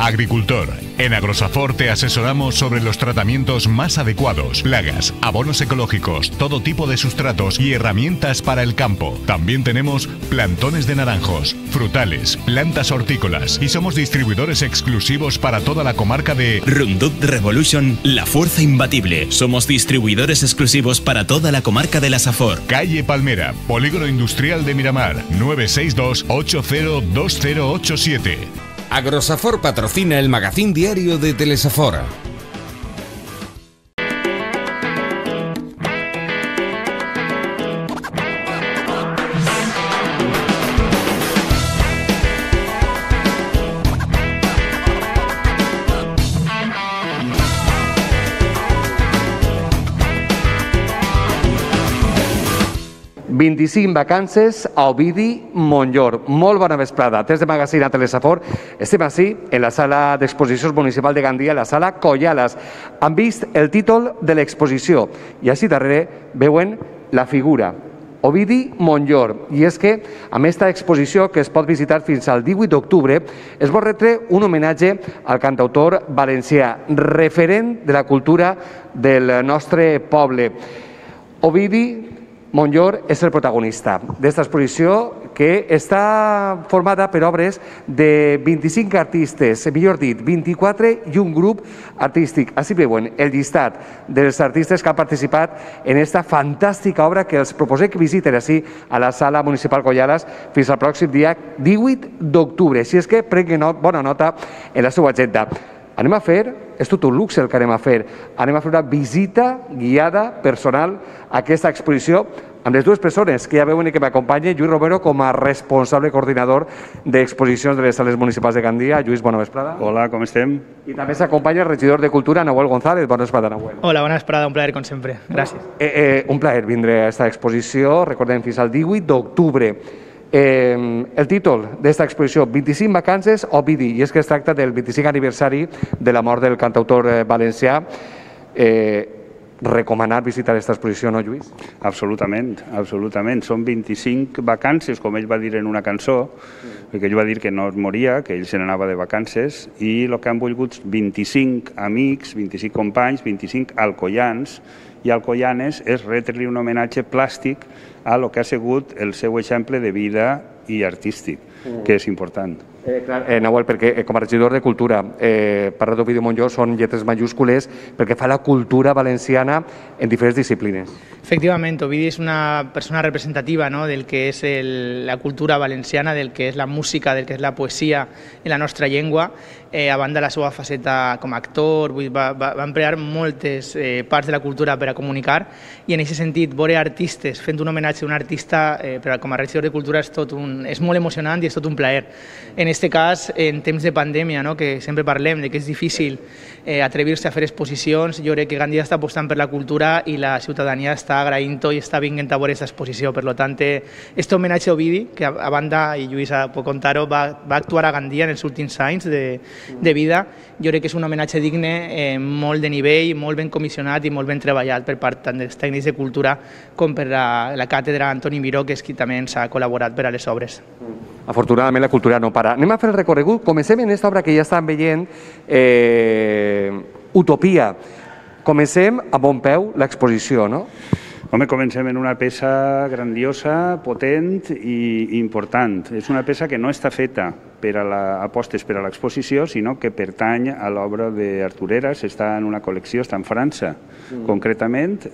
Agricultor. En Agrosafor te asesoramos sobre los tratamientos más adecuados, plagas, abonos ecológicos, todo tipo de sustratos y herramientas para el campo. También tenemos plantones de naranjos, frutales, plantas hortícolas y somos distribuidores exclusivos para toda la comarca de Roundup Revolution, la fuerza imbatible. Somos distribuidores exclusivos para toda la comarca de la Safor. Calle Palmera, Polígono Industrial de Miramar, 962 802087. Agrosafor patrocina el magazín diario de Telesafor. «25 vacances a Ovidi Montllor». Molt bona vesprada. Des de magazín a Telesafor estem així en la sala d'exposicions municipal de Gandia, la sala Collalas. Han vist el títol de l'exposició i així darrere veuen la figura. Ovidi Montllor. I és que, amb aquesta exposició que es pot visitar fins al 18 d'octubre, es vol retre un homenatge al cantautor valencià, referent de la cultura del nostre poble. Ovidi Montllor és el protagonista d'esta exposició que està formada per obres de 25 artistes, millor dit, 24 i un grup artístic. Així veuen el llistat dels artistes que han participat en esta fantàstica obra que els proposem que visiten així a la sala municipal Collalas fins al pròxim dia 18 d'octubre. Així és que prenguin bona nota en la seva agenda. Anem a fer, és tot un luxe el que anem a fer una visita guiada personal a aquesta exposició amb les dues persones que ja veuen i que m'acompanyen. Lluís Romero com a responsable coordinador d'exposicions de les sales municipals de Gandia. Lluís, bona vesprada. Hola, com estem? I també s'acompanya el regidor de Cultura, Nahuel González. Bona vesprada, Nahuel. Hola, bona vesprada, un plaer com sempre. Gràcies. Un plaer vindre a aquesta exposició, recordem, fins al 18 d'octubre. El títol d'esta exposició, 25 vacances a Ovidi, i és que es tracta del 25 aniversari de la mort del cantautor valencià. Recomanar visitar aquesta exposició, no, Lluís? Absolutament, absolutament. Són 25 vacances, com ell va dir en una cançó, perquè ell va dir que no es moria, que ell se n'anava de vacances, i el que han volgut 25 amics, 25 companys, 25 alcoians i alcoianes és retre-li un homenatge plàstic a lo que ha sigut el seu exemple de vida i artístic, que és important. Nahuel, perquè com a regidor de Cultura, parlar d'Ovidi Montllor són lletres majúscules perquè fa la cultura valenciana en diferents disciplines. Efectivament, Ovidi és una persona representativa del que és la cultura valenciana, del que és la música, del que és la poesia en la nostra llengua. A banda de la seva faceta com a actor, va emplear moltes parts de la cultura per a comunicar, i en aquest sentit, veure artistes fent un homenatge a un artista com a regidor de Cultura és molt emocionant i és tot un plaer. En aquest cas, en temps de pandèmia, que sempre parlem de que és difícil atrevir-se a fer exposicions, jo crec que Gandia està apostant per la cultura i la ciutadania està agraint-ho i està vinguent a veure aquesta exposició. Per tant, aquest homenatge a Ovidi, que a banda, i Lluís pot contar-ho, va actuar a Gandia en els últims anys de vida, jo crec que és un homenatge digne, molt de nivell, molt ben comissionat i molt ben treballat per part tant dels tècnics de cultura com per la càtedra Antoni Miró, que és qui també ens ha col·laborat per a les obres. Afortunadament la cultura no para. Anem a fer el recorregut. Comencem en aquesta obra que ja estan veient, Utopia. Comencem a bon peu l'exposició, no? Home, comencem en una peça grandiosa, potent i important. És una peça que no està feta per a apostes per a l'exposició, sinó que pertany a l'obra d'Artur Heras, està en una col·lecció, està en França. Concretament,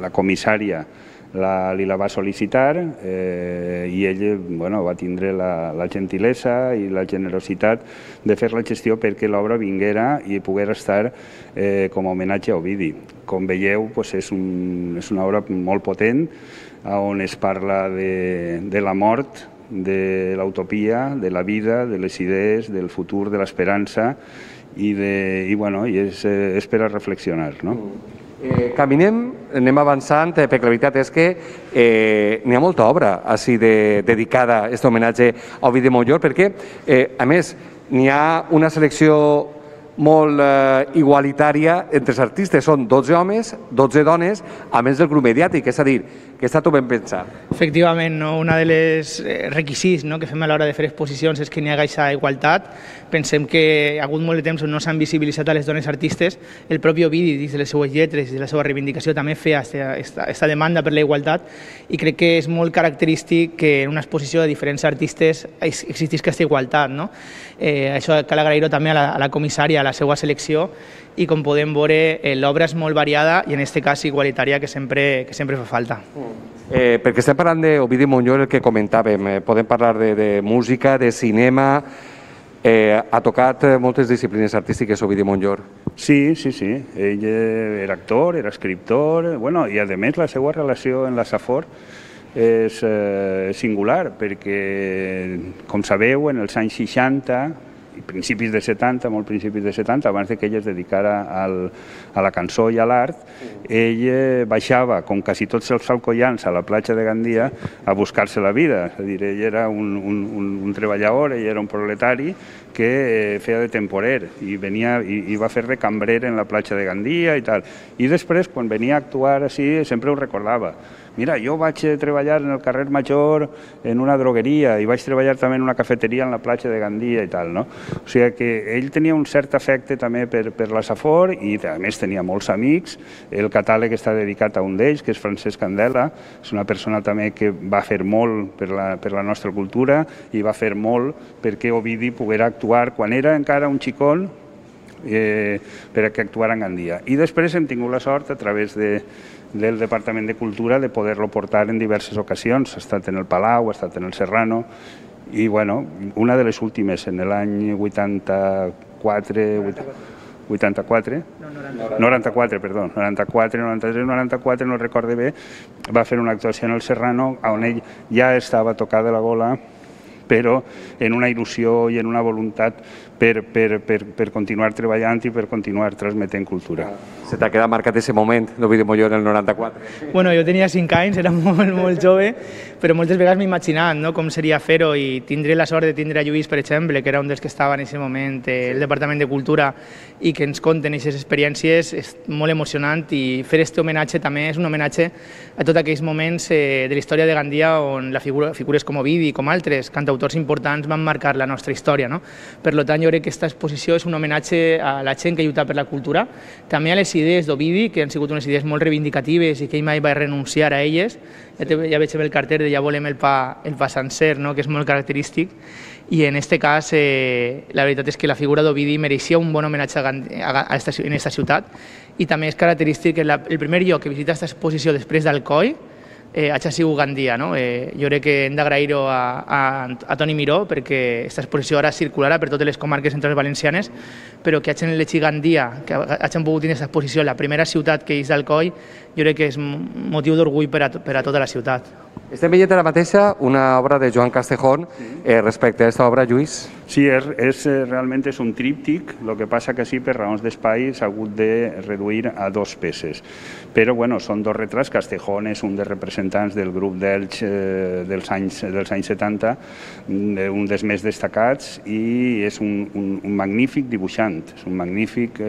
la comissària li la va sol·licitar i ell va tindre la gentilesa i la generositat de fer la gestió perquè l'obra vinguera i pogués estar com a homenatge a Ovidi. Com veieu, és una obra molt potent on es parla de la mort, de l'utopia, de la vida, de les idees, del futur, de l'esperança i és per a reflexionar, no? Caminem, anem avançant, perquè la veritat és que n'hi ha molta obra així dedicada a aquest homenatge a Ovidi Montllor, perquè, a més, n'hi ha una selecció molt igualitària entre els artistes. Són 12 homes, 12 dones, a més del grup mediàtic. És a dir, que està tot ben pensat. Efectivament, no? Un dels requisits que fem a l'hora de fer exposicions és que n'hi hagi aquesta igualtat. Pensem que hi ha hagut molt de temps on no s'han visibilitzat a les dones artistes. El propi Ovidi, dins de les seues lletres i de la seva reivindicació, també feia aquesta demanda per la igualtat, i crec que és molt característic que en una exposició de diferents artistes existís aquesta igualtat. No? Això cal agrair-ho també a la comissària, a la seva selecció, i com podem veure, l'obra és molt variada i en aquest cas igualitària, que sempre fa falta. Perquè estem parlant d'Ovidi Montllor, el que comentàvem, podem parlar de música, de cinema, ha tocat moltes disciplines artístiques Ovidi Montllor. Sí. Ell era actor, era escriptor, i a més la seva relació amb la Safor és singular, perquè, com sabeu, en els anys 60 i principis de 70, molt principis de 70, abans que ell es dedicara a la cançó i a l'art, ell baixava, com quasi tots els alcoians, a la platja de Gandia a buscar-se la vida. És a dir, ell era un treballador, ell era un proletari que feia de temporer i venia i va fer de cambrer en la platja de Gandia i tal. I després, quan venia a actuar així, sempre ho recordava. Mira, jo vaig treballar en el carrer Major en una drogueria i vaig treballar també en una cafeteria en la platja de Gandia i tal, no? O sigui que ell tenia un cert afecte també per la Safor i a més tenia molts amics. El catàleg està dedicat a un d'ells, que és Francesc Candela. És una persona també que va fer molt per la nostra cultura i va fer molt perquè Ovidi poguera actuar quan era encara un xicón per a que actuara en Gandia. I després hem tingut la sort, a través del Departament de Cultura, de poder-lo portar en diverses ocasions. Ha estat en el Palau, ha estat en el Serrano, i una de les últimes, en l'any 94, no recorde bé, va fer una actuació en el Serrano on ell ja estava tocat de la gola, però en una il·lusió i en una voluntat per continuar treballant i per continuar transmetent cultura. Se t'ha quedat marcat aquest moment d'Ovidi Montllor en el 94? Bueno, jo tenia 5 anys, era molt jove, però moltes vegades m'he imaginat com seria fer-ho, i tindré la sort de tindre a Lluís, per exemple, que era un dels que estava en aquest moment al Departament de Cultura, i que ens conten aquestes experiències. És molt emocionant, i fer aquest homenatge també és un homenatge a tots aquells moments de la història de Gandia on figures com Ovidi i com altres cantautors importants van marcar la nostra història. Per tant, jo crec que aquesta exposició és un homenatge a la gent que lluita per la cultura, també a les idees d'Ovidi, que han sigut unes idees molt reivindicatives i que ell mai va renunciar a elles. Ja veig el carter de "Ja volem el pa sencer", que és molt característic, i en aquest cas la veritat és que la figura d'Ovidi mereixia un bon homenatge en aquesta ciutat, i també és característic que el primer lloc que visita aquesta exposició després d'Alcoi hagi sigut Gandia. Jo crec que hem d'agrair-ho a Toni Miró, perquè aquesta exposició ara circularà per totes les comarques centrals valencianes, però que hagin elegit Gandia, que hagin pogut tenir aquesta exposició, la primera ciutat que és d'Alcoi, jo crec que és motiu d'orgull per a tota la ciutat. Estem veient ara mateixa una obra de Joan Castejón. Respecte a aquesta obra, Lluís? Sí, realment és un tríptic, el que passa que sí, per raons d'espai s'ha hagut de reduir a 2 peces. Però són 2 retrats. Castejón és un dels representants del grup d'Elx dels anys 70, un dels més destacats, i és un magnífic dibuixant, és un magnífic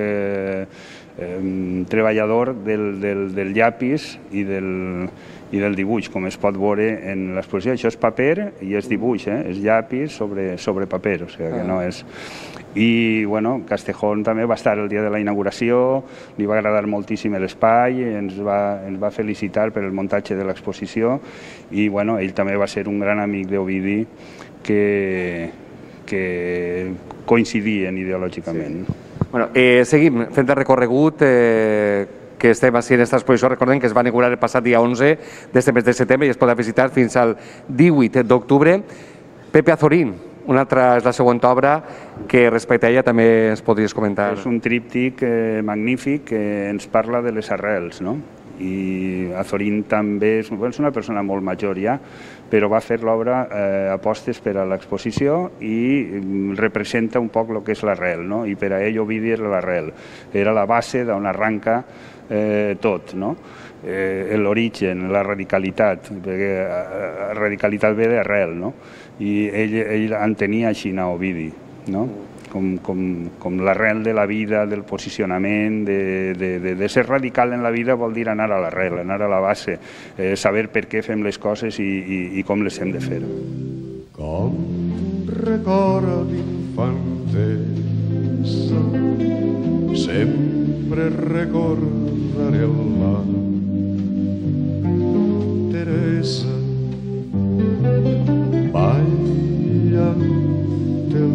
treballador del llapis i del dibuix, com es pot veure en l'exposició. Això és paper i és dibuix, és llapis sobre paper, o sigui que no és... I, Castejón també va estar el dia de la inauguració, li va agradar moltíssim l'espai, ens va felicitar per el muntatge de l'exposició, i, ell també va ser un gran amic d'Ovidi que coincidien ideològicament. Seguim fent el recorregut que estem així en aquesta exposició. Recordem que es va inaugurar el passat dia 11 d'este mes de setembre i es podrà visitar fins al 18 d'octubre. Pepe Azorín, una altra és la següent obra que respecte a ella també ens podries comentar. És un tríptic magnífic que ens parla de les arrels, no? I Azorín també és una persona molt major ja, però va fer l'obra apostes per a l'exposició i representa un poc el que és l'arrel, no? I per a ell Ovidi era l'arrel, era la base d'on arranca tot, no? L'origen, la radicalitat, perquè radicalitat ve d'arrel, no? I ell entenia així a Ovidi, no? com l'arrel de la vida, del posicionament, de ser radical en la vida vol dir anar a l'arrel, anar a la base, saber per què fem les coses i com les hem de fer. Com record d'infantesa, sempre recordaré el mar. Teresa, balla del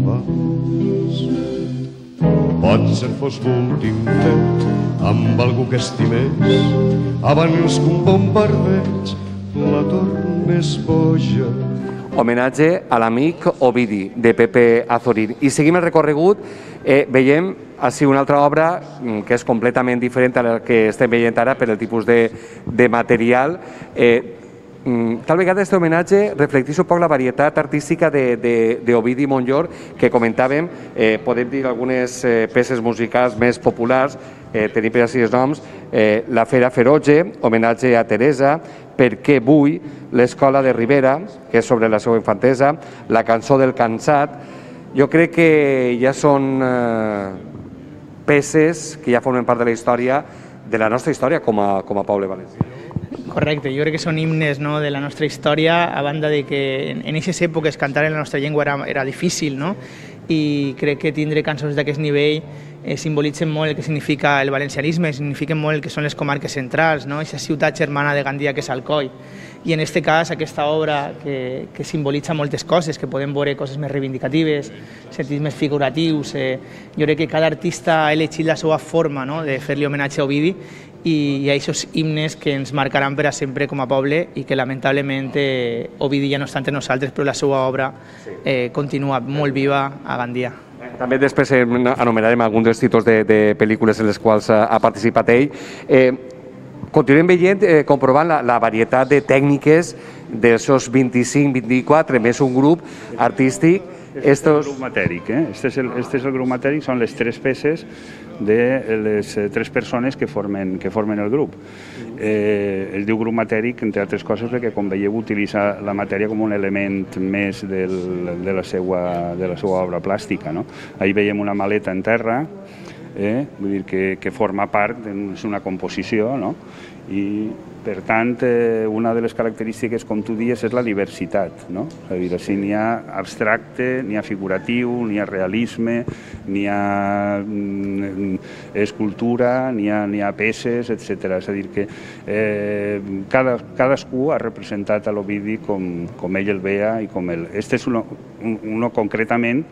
vals. Potser fos l'últim fet amb algú que estimés abans que un bombardeig la tornés boja. Homenatge a l'amic Ovidi, de Pepe Azorín. I seguim el recorregut, veiem així una altra obra que és completament diferent a la que estem veient ara per el tipus de material. Tal vegada aquest homenatge reflecteix un poc la varietat artística d'Ovidi Montllor, que comentàvem, podem dir algunes peces musicals més populars, tenim per així els noms, La Fera Feroge, homenatge a Teresa, Per què vull, l'Escola de Ribera, que és sobre la seva infantesa, La cançó del cansat. Jo crec que ja són peces que ja formen part de la història, de la nostra història com a poble valencià. Correcte, jo crec que són himnes de la nostra història, a banda de que en aquestes èpoques cantar en la nostra llengua era difícil, i crec que tindre cançons d'aquest nivell simbolitzen molt el que significa el valencianisme, signifiquen molt el que són les comarques centrals, aquesta ciutat germana de Gandia que és Alcoi. I en aquest cas, aquesta obra que simbolitza moltes coses, que podem veure coses més reivindicatives, sentits més figuratius. Jo crec que cada artista ha elegit la seva forma de fer-li homenatge a Ovidi, i hi ha aquests himnes que ens marcaran per a sempre com a poble i que lamentablement Ovidi ja no està entre nosaltres, però la seva obra continua molt viva a Gandia. També després anomenarem alguns dels títols de pel·lícules en les quals ha participat ell. Continuem veient, comprovant la varietat de tècniques dels seus 25-24, més un grup artístic. Este és el grup matèric, este és el grup matèric, són les tres peces de les tres persones que formen el grup. Es diu grup matèric, entre altres coses, perquè, com veieu, utilitza la matèria com un element més de la seva obra plàstica. Ahí veiem una maleta en terra, vull dir que forma part, és una composició, i per tant una de les característiques, com tu dius, és la diversitat. És a dir, així n'hi ha abstracte, n'hi ha figuratiu, n'hi ha realisme, n'hi ha escultura, n'hi ha peces, etc. És a dir, que cadascú ha representat a l'Ovidi com ell el veia i com ell. Este és uno concretament,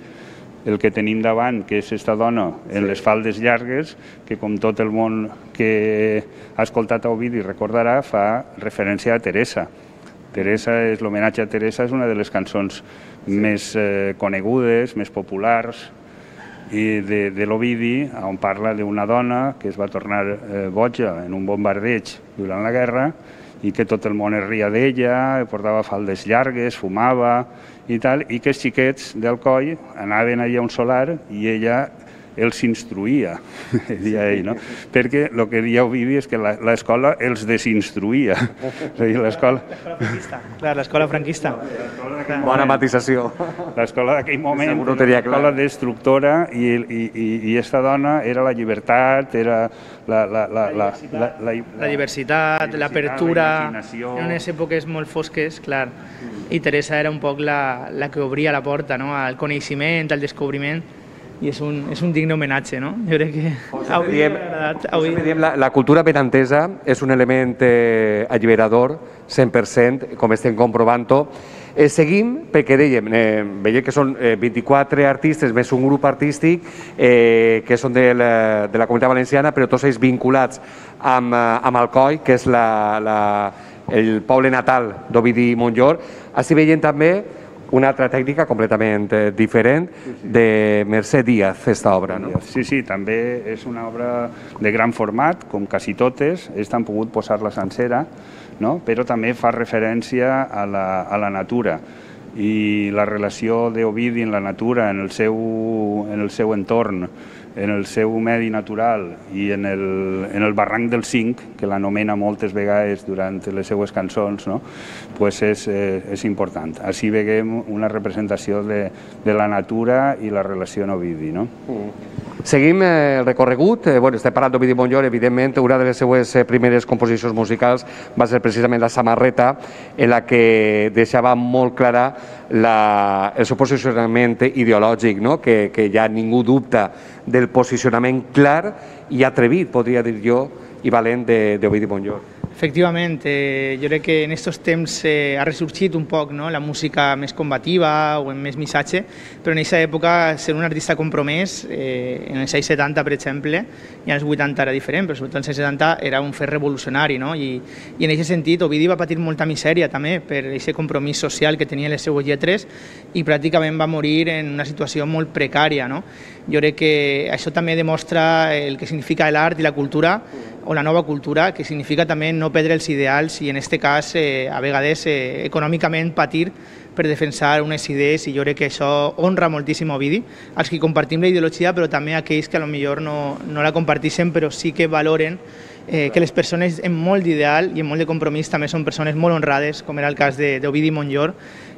el que tenim davant, que és aquesta dona en les faldes llargues, que com tot el món que ha escoltat a Ovidi recordarà, fa referència a Teresa. L'homenatge a Teresa és una de les cançons més conegudes, més populars de l'Ovidi, on parla d'una dona que es va tornar boja en un bombardeig durant la guerra i que tot el món es ria d'ella, portava faldes llargues, fumava i tal, i que els xiquets d'Alcoi anaven allà a un solar i ella els instruïa, deia ell, perquè el que deia Ovidi és que l'escola els desinstruïa. L'escola franquista. Clar, l'escola franquista. Bona matisació. L'escola d'aquell moment, l'escola destructora, i aquesta dona era la llibertat, era la diversitat, l'apertura, en unes èpoques molt fosques, clar. I Teresa era un poc la que obria la porta al coneixement, al descobriment, i és un digne homenatge, no? Jo crec que avui m'ha agradat. La cultura benantesa és un element alliberador, 100%, com estem comprovant-ho. Seguim, perquè dèiem, veiem que són 24 artistes més un grup artístic que són de la Comunitat Valenciana, però tots ells vinculats amb Alcoi, que és el poble natal d'Ovidi Montllor. Així veiem també una altra tècnica completament diferent de Mercè Díaz, aquesta obra. Sí, també és una obra de gran format, com quasi totes, ells han pogut posar-la sencera, però també fa referència a la natura. i la relació d'Ovidi en la natura, en el seu entorn, en el seu medi natural i en el barranc del Cinc, que l'anomena moltes vegades durant les seues cançons, no? Pues és important. Així veiem una representació de la natura i la relació amb Ovidi. No? Seguim el recorregut. Estem parlant d'Ovidi Montllor, evidentment, una de les seues primeres composicions musicals va ser precisament La samarreta, en la que deixava molt clara el seu posicionament ideològic, no? Que ja ningú dubta del posicionament clar i atrevit, podria dir jo, i valent d'Ovidi Montllor. Efectivament, jo crec que en aquests temps ha ressorgit un poc, no? La música més combativa o amb més missatge, però en aquesta època ser un artista compromès, en els anys 70 per exemple, i en els 80 era diferent, però sobretot en els 70 era un fet revolucionari, no? I en aquest sentit Ovidi va patir molta misèria també per aquest compromís social que tenia les seues lletres i pràcticament va morir en una situació molt precària, no? Jo crec que això també demostra el que significa l'art i la cultura, o la nova cultura, que significa també no perdre els ideals i en aquest cas a vegades econòmicament patir per defensar unes idees, i jo crec que això honra moltíssim a Ovidi, els que compartim la ideologia, però també aquells que potser no la comparteixen, però sí que valoren que les persones amb molt d'ideal i amb molt de compromís també són persones molt honrades, com era el cas d'Ovidi Montllor,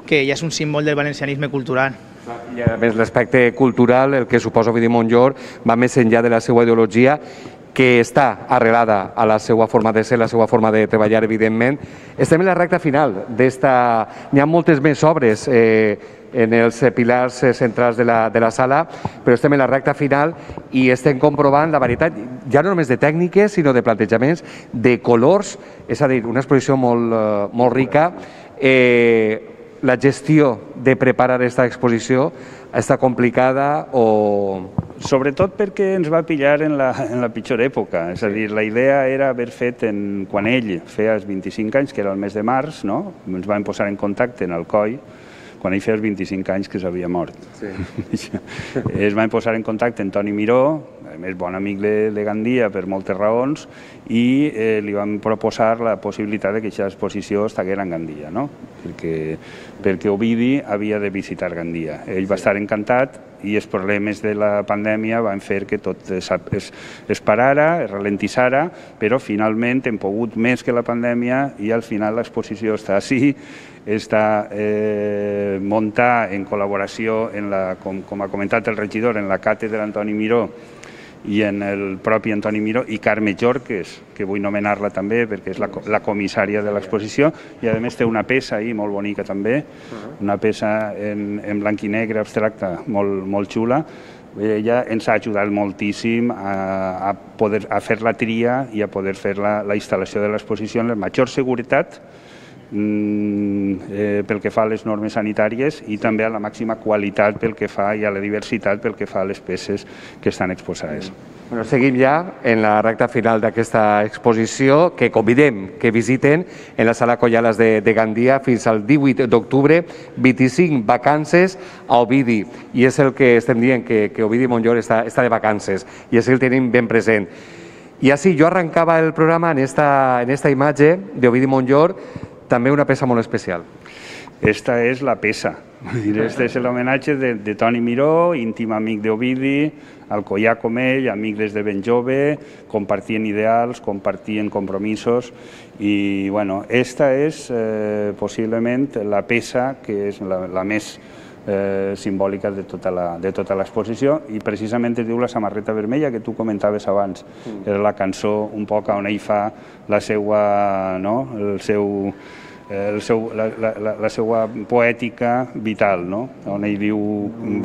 que ja és un símbol del valencianisme cultural. I a més l'aspecte cultural, el que suposa Ovidi Montllor, va més enllà de la seva ideologia, que està arrelada a la seva forma de ser, la seva forma de treballar, evidentment. Estem en la recta final d'esta... N'hi ha moltes més obres en els pilars centrals de la sala, però estem en la recta final i estem comprovant la varietat, ja no només de tècniques, sinó de plantejaments, de colors, és a dir, una exposició molt rica. La gestió de preparar aquesta exposició està complicada o... Sobretot perquè ens va pillar en la pitjor època, és a dir, la idea era haver fet quan ell feia els 25 anys, que era el mes de març, no? Ens vam posar en contacte en Alcoi, quan ell feia els 25 anys que s'havia mort. Sí. Es van posar en contacte amb Toni Miró, a més bon amic de Gandia per moltes raons, i li van proposar la possibilitat que aquesta exposició estigués en Gandia, no? Perquè Ovidi havia de visitar Gandia. Ell va estar encantat i els problemes de la pandèmia van fer que tot es parara, es ralentissara, però finalment hem pogut més que la pandèmia i al final l'exposició està així, està muntada en col·laboració, com ha comentat el regidor, en la càtedra Antoni Miró i en el propi Antoni Miró i Carme Jorques, que vull nomenar-la també perquè és la comissària de l'exposició, i a més té una peça ahí molt bonica també, una peça en blanc i negre abstracta molt xula. Ella ens ha ajudat moltíssim a fer la tria i a poder fer la instal·lació de l'exposició amb la major seguretat pel que fa a les normes sanitàries i també a la màxima qualitat pel que fa i a la diversitat pel que fa a les peces que estan exposades. Seguim ja en la recta final d'aquesta exposició, que convidem que visiten en la sala Collalas de Gandia fins al 18 d'octubre, 25 vacances a Ovidi. I és el que estem dient, que Ovidi Montllor està de vacances, i és el que tenim ben present. I així jo arrencava el programa en esta imatge d'Ovidi Montllor, també una peça molt especial. Esta és la peça. Este és l'homenatge de Toni Miró, íntim amic d'Ovidi, alcoià com ell, amic des de ben jove, compartien ideals, compartien compromisos i, bueno, esta és possiblement la peça que és la més simbòlica de tota l'exposició i precisament es diu La samarreta vermella, que tu comentaves abans. Era la cançó un poc on ell fa la seva poètica vital, on ell diu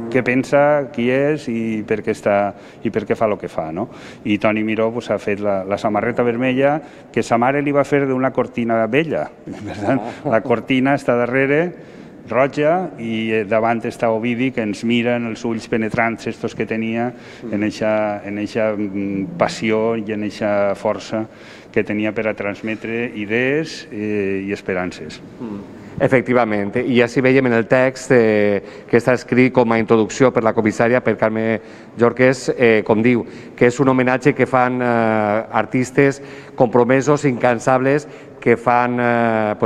què pensa, qui és i per què fa el que fa. I Toni Miró ha fet la samarreta vermella que sa mare li va fer d'una cortina vella. La cortina està darrere, roja, i davant està Ovidi, que ens mira en els ulls penetrants estos que tenia, en eixa passió i en eixa força que tenia per a transmetre idees i esperances. Efectivament, i així veiem en el text que està escrit com a introducció per la comissària, per Carme Jorques, com diu, que és un homenatge que fan artistes compromesos, incansables, que fan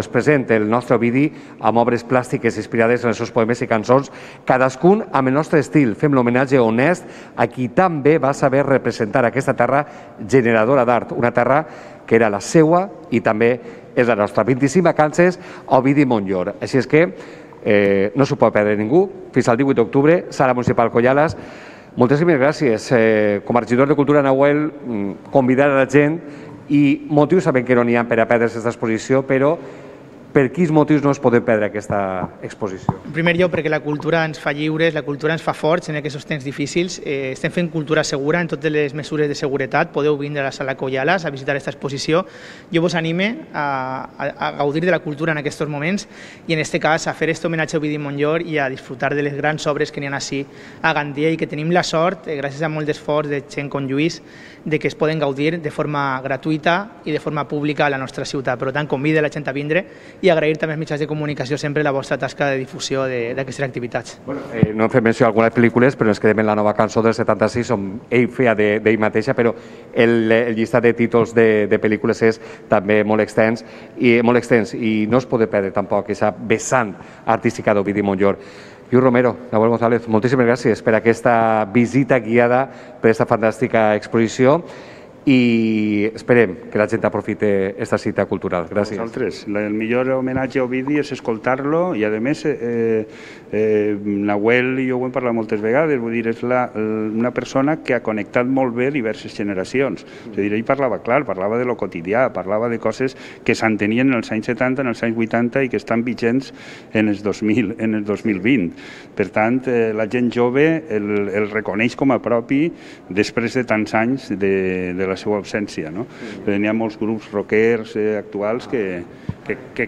present el nostre Ovidi amb obres plàstiques inspirades en els seus poemes i cançons, cadascun amb el nostre estil. Fem l'homenatge honest a qui també va saber representar aquesta terra generadora d'art, una terra que era la seua i també és la nostra. 25 vacances a Ovidi Montllor. Així és que no s'ho pot perdre ningú. Fins al 18 d'octubre, Sala Municipal Collales. Moltíssimes gràcies. Com a regidor de Cultura, Nahuel, convidar a la gent i motius sabem que no n'hi ha per a perdre's aquesta exposició, però per quins motius no es poden perdre aquesta exposició? En primer lloc, perquè la cultura ens fa lliures, la cultura ens fa forts en aquests temps difícils. Estem fent cultura segura en totes les mesures de seguretat. Podeu vindre a la Sala Collales a visitar aquesta exposició. Jo vos anime a gaudir de la cultura en aquests moments i, en aquest cas, a fer aquest homenatge a Ovidi Montllor i a disfrutar de les grans obres que n'hi ha així a Gandia i que tenim la sort, gràcies a molt d'esforç de gent com Lluís, de que es poden gaudir de forma gratuïta i de forma pública a la nostra ciutat. Per tant, convida la gent a vindre i agrair també als mitjans de comunicació sempre la vostra tasca de difusió d'aquestes activitats. No hem fet menció d'algunes pel·lícules, però ens quedem en la nova cançó del 76, on ell feia d'ell mateixa, però el llistat de títols de pel·lícules és també molt extens i no es pot perdre tampoc aquesta vessant artística d'Ovidi Montllor. Lluís Romero, Nahuel González, moltíssimes gràcies per aquesta visita guiada per aquesta fantàstica exposició i esperem que la gent aprofite aquesta cita cultural. Gràcies. Nosaltres. El millor homenatge a Ovidi és escoltar-lo i, a més, Nahuel i jo ho hem parlat moltes vegades, vull dir, és una persona que ha connectat molt bé diverses generacions. És a dir, ell parlava clar, parlava de lo quotidià, parlava de coses que s'entenien en els anys 70, en els anys 80 i que estan vigents en els 2020. Per tant, la gent jove el reconeix com a propi després de tants anys de la seva absència. N'hi ha molts grups rockers actuals que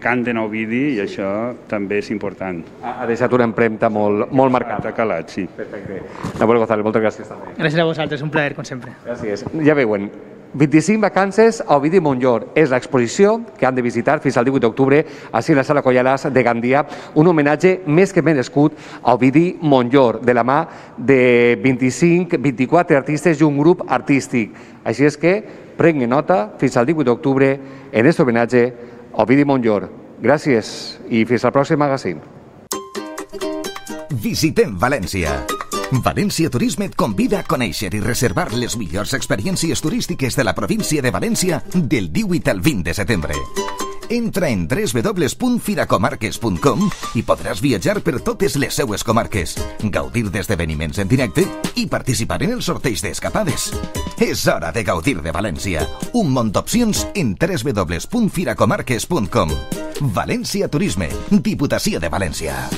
canten a Ovidi i això també és important. Ha deixat una empremta molt marcada. Ha calat, sí. Perfecte. Nahuel González, moltes gràcies també. Gràcies a vosaltres, un plaer, com sempre. Gràcies. Ja veuen, 25 vacances a Ovidi Montllor. És l'exposició que han de visitar fins al 18 d'octubre així a la Sala Collales de Gandia, un homenatge més que merescut a Ovidi Montllor, de la mà de 24 artistes i un grup artístic. Així és que prenguin nota fins al 18 d'octubre en aquest homenatge a Ovidi Montllor. Gràcies i fins al pròxim magazín. Visitem València. València Turisme et convida a conèixer i reservar les millors experiències turístiques de la província de València del 18 al 20 de setembre. Entra en www.firacomarques.com i podràs viatjar per totes les seues comarques, gaudir d'esdeveniments en directe i participar en els sorteig d'escapades. És hora de gaudir de València. Un munt d'opcions en www.firacomarques.com. València Turisme, Diputació de València.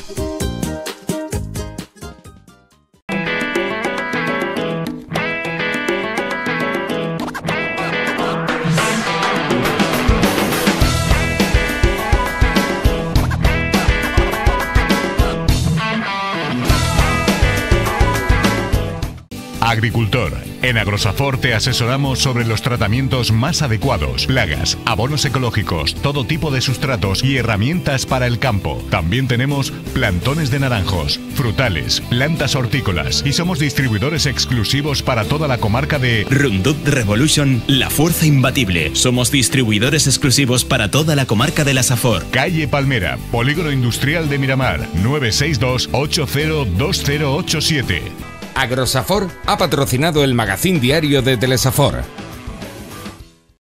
Agricultor. En Agrosafor te asesoramos sobre los tratamientos más adecuados, plagas, abonos ecológicos, todo tipo de sustratos y herramientas para el campo. También tenemos plantones de naranjos, frutales, plantas hortícolas y somos distribuidores exclusivos para toda la comarca de Roundup Revolution, la fuerza imbatible. Somos distribuidores exclusivos para toda la comarca de la Safor. Calle Palmera, Polígono Industrial de Miramar, 962 802087. Agrosafor ha patrocinado el magazín diario de Telesafor.